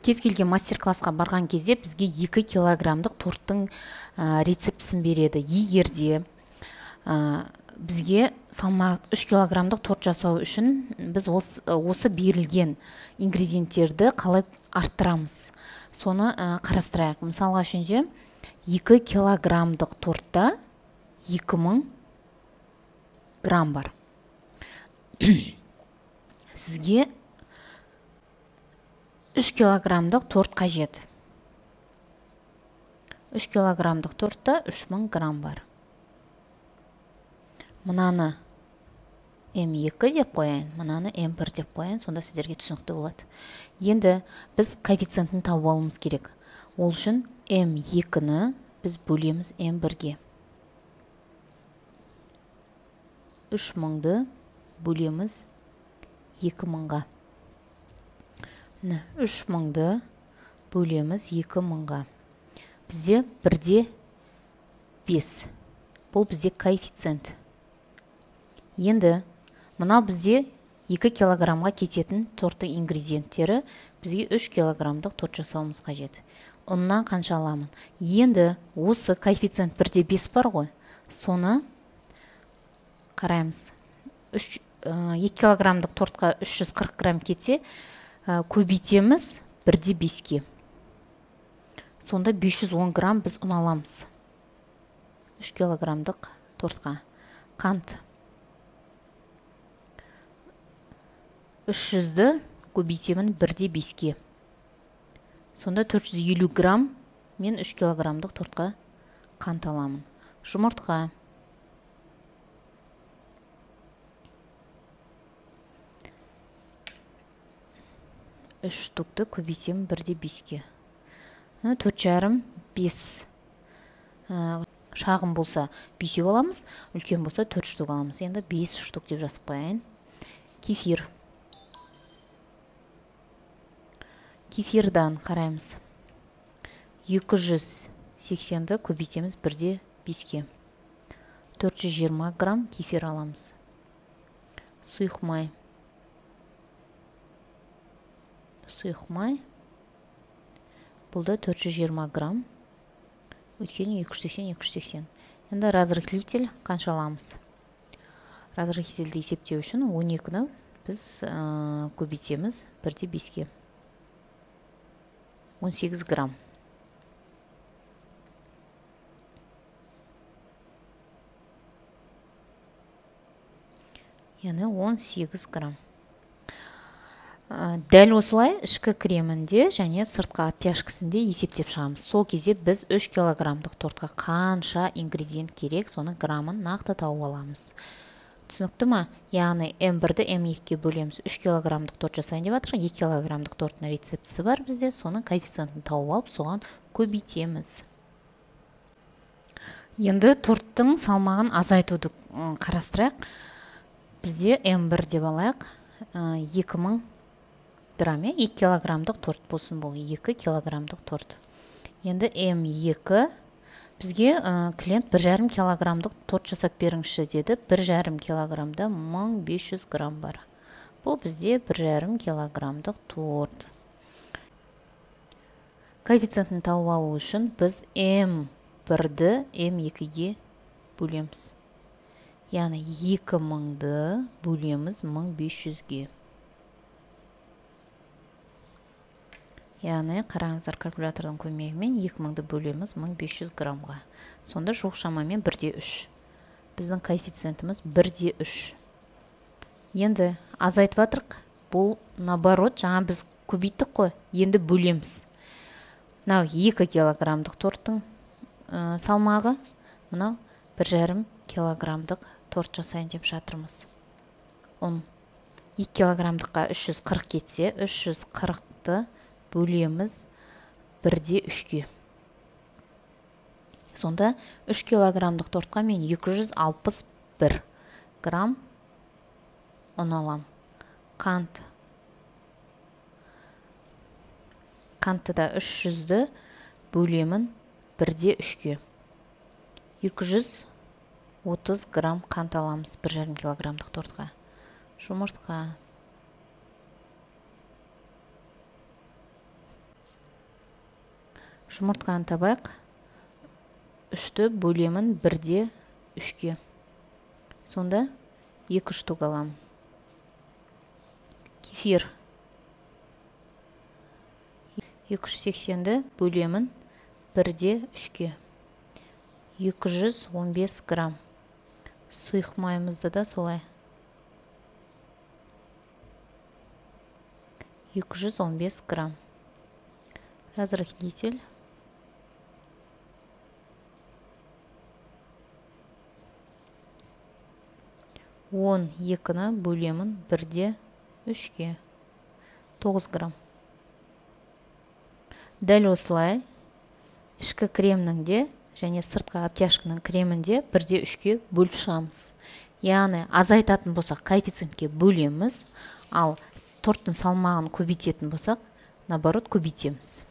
Кез келген мастер-классқа барған кезде бізге 2 килограммдық торттың рецептісін береді. Егерде бізге салмақ 3 килограммдық торт жасау үшін біз осы берілген ингредиенттерді қалай арттырамыз, соны қарастырайық. Мысалға үшінде 2 килограммдық тортта 2000 грамм бар. Сізге 3 килограммдық торт қажет. 3 килограммдық тортта 3000 грамм бар. Мынаны М2 деп қояйын, мынаны М1 деп қояйын, сонда сіздерге түсінікті болады. Енді біз коэффициентін тауып алуымыз керек. Ол үшін М2-ні біз бөлеміз М1-ге. 3000-ды бөлеміз 2000-ға. 3000-ды бөлеміз 2000-ға. Бізде 1/5. Бұл бізде коэффициент. Енді мынау бізде 2 килограммға кететін торттың ингредиенттері, бізге 3 килограммдық торт жасауымыз қажет. Оннан қанша аламын? Енді осы коэффициент 1/5 бар ғой, соны қараймыз. 2 килограммдық тортқа 340 грамм кетсе, көбейтеміз 1/5-ке. Сонда 510 грамм біз ұн аламыз. 3 килограммдық тортқа. Қант. 300-ді көбейтемін 1/5-ке. Сонда 450 грамм мен 3 килограммдық тортқа қант аламын. Жұмыртқа. 3 штукты көбейтемін 1/5-ке. 4,5-5. Шағын болса 5 аламыз, үлкен болса 4 штук аламыз. Енді 5 штук деп жазып қояйын. Кефир. Кефирдан қараймыз. 280-ді көбейтеміз 1/5-ке. 420 грамм кефир аламыз. Сұйық май. Сұйық май. Бұл да 420 грамм. Өйткені 280-280. Енді разрыхлитель қанша аламыз? Разрыхлительді есептеу үшін 12-ні біз көбейтеміз 1/5-ке. 18 грамм. Яғни 18 грамм. Дәл осылай ішкі кремінде және сыртқы обтяжкісінде есептеп шығамыз. Сол кезде біз 3 килограммдық тортқа қанша ингредиент керек, соның граммын нақты тауып аламыз. Түсінікті ма? Яғни М1-ді М2-ге бөлеміз. 3 килограммдық торт жасайын деп жатыр. 2 килограммдық торттың рецептісі бар бізде. Соның коэффициентін тауып алып, соған көбейтеміз. Енді торттың салмағын азайтуды қарастырайық. Бізде М1 деп алайық. 2000 грамм, 2 килограммдық торт болсын, бұл 2 килограммдық торт. Енді М2 бізге клиент 1,5 килограммдық торт жасап беріңізші деді. 1,5 килограммда 1500 грамм бар. Бұл бізде 1,5 килограммдық торт. Коэффициентін тауып алу үшін біз М1-ді М2-ге бөлеміз. Яғни 2000-ді бөлеміз 1500-ге. Яғни қараңыздар, калькулятордың көмегімен 2000-ді бөлеміз 1500 граммға. Сонда жоқ шамамен 1/3. Біздің коэффициентіміз 1/3. Енді азайтып жатырық. Бұл наоборот, жаңа біз көбейттік қой. Енді бөлеміз. Мынау 2 килограммдық торттың салмағы. Мынау 1,5 килограммдық торт жасайын деп жатырмыз. 2 килограммдыққа 340 кетсе, 340-ты бөлеміз 1/3-ге. Сонда 3 килограммдық тортқа мен 261 грамм ұн алам. Қант. Қантты да 300-ді бөлемін 1/3-ге. 230 грамм қант аламыз 1,5 килограммдық тортқа. Жұмыртқа. Жұмыртқаны табайық. 3-ті бөлемін 1-де 3-ке. Сонда 2 штук аламын. Кефир. 280-ді бөлемін 1-де 3-ке. 215 грамм. Сұйық майымызды да солай. 215 грамм. Разрыхлитель. Он 2-ні бөлемін 1-де 3-ке. 9 грамм. Дәл осылай ішкі кремнің де және сыртқы обтяжканың кремін де 1-де 3-ке бөліп шығамыз. Яғни азайтатын болсақ коэффициентке бөлеміз, ал торттың салмағын көбейтетін болсақ, наоборот көбейтеміз.